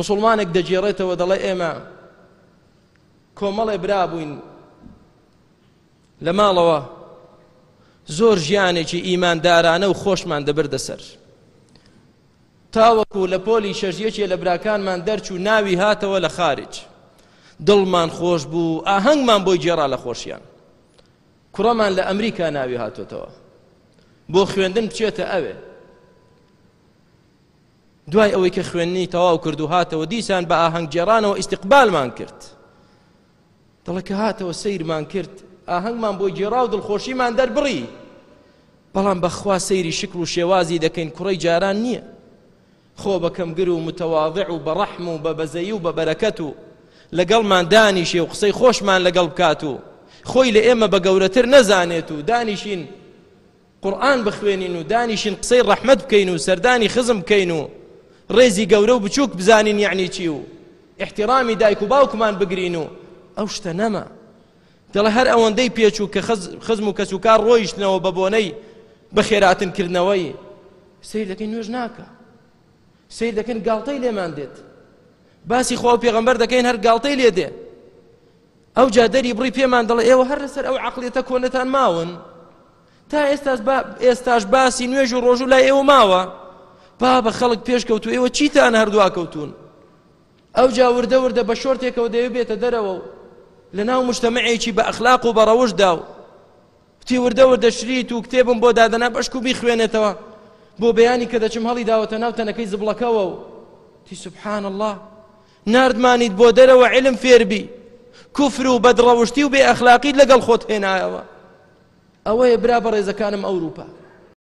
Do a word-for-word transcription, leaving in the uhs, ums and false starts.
مسلمانێک دەگێڕێتەوە دەڵێ ئێمە کۆمەڵێ برا بووین لە ماڵەوە، زۆر ژیانێکی ئیماندارانە و خۆشمان دەبردە سەر. تاوەکو لە پۆلی شەش یەکێ لە براکانمان دەرچوو ناوی هاتەوە لە خارج، دڵمان خۆش بوو، ئاهەنگمان بۆی گێڕا لە خۆشیان. کوڕەمان لە ئەمریکا ناوی هاتۆتەوە بۆ خوێندن بچێتە ئەوێ. دوای ئەوەی کە خوێندنی تەواو کرد و هاتەوە دیسان بە ئاهەنگ گێڕانەوە ئیستیقبالمان کرد. دەڵێ کە هاتەوە سەیرمان کرد، ئاهەنگمان بۆی گێڕا و دڵخۆشیمان دەربڕی، بەڵام بەخوا سەیری شکل و شێوازی دەکەین کوڕەی جاران نییە. خۆ بە کەمگر و متەواضع و بە ڕەحم و بە بەزەیی و بە بەرەکەت و لەگەڵمان دانیشێ و قسەی خۆشمان لەگەڵ بکات و خۆی لە ئێمە بە گەورەتر نەزانێت و دانیشین قورئان بخوێنین و دانیشین قسەی ڕەحمەت بکەین و سەردانی خزم بکەین و ڕێزی گەورە و بچووک بزانین یعنی چی و احترامی دایک و باوکمان بگرین و ئەو شتە نەما. دەڵێ هەر ئەوەندەی پێچوو کە خزم و کەسوکار ڕۆیشتنەوە بە بۆنەی بەخێراتنکردنەوەی، سەیر دەکەین نوێژ ناکا، سەیر دەکەین گاڵتەی لێمان دێت، باسی خوا و پێغەمبەر دەکەین هەر گاڵتەی لێ دێ. ئەو جا دەری بڕی پێمان دەڵێ ئێوە هەر لەسەر ئەو عەقڵیەتە کۆنەتان ماون، تا ئێستاش باسی نوێژ و ڕۆژوو لای ئێوە ماوە. بابە خەڵک پێشکەوتو ئێوە چیتان هەردووا کەوتون؟ ئەو جا وردە وردە بە شۆرتێکەوە دەوێ بێتە دەرەوە و لەناو مجتەمعێکی بە ئەخلاق و بە ڕەوشدا و تی وردە وردە شریت و کتێبم بۆ دادەنا بەشک و بیخوێنێتەوە بۆ بەیانی کە دەچم هەڵی داوەتە ناو تەنەکەی زبڵەکەوە و تی سبحان الله ناردمانیت بۆ دەرەوە علم فێربی، کوفر و بەدڕەوشتی و بێ ئەخلاقیت لەگەڵ خۆت هێنایەوە. ئەوەیە برا بەڕێزەکانم ئەوروپا.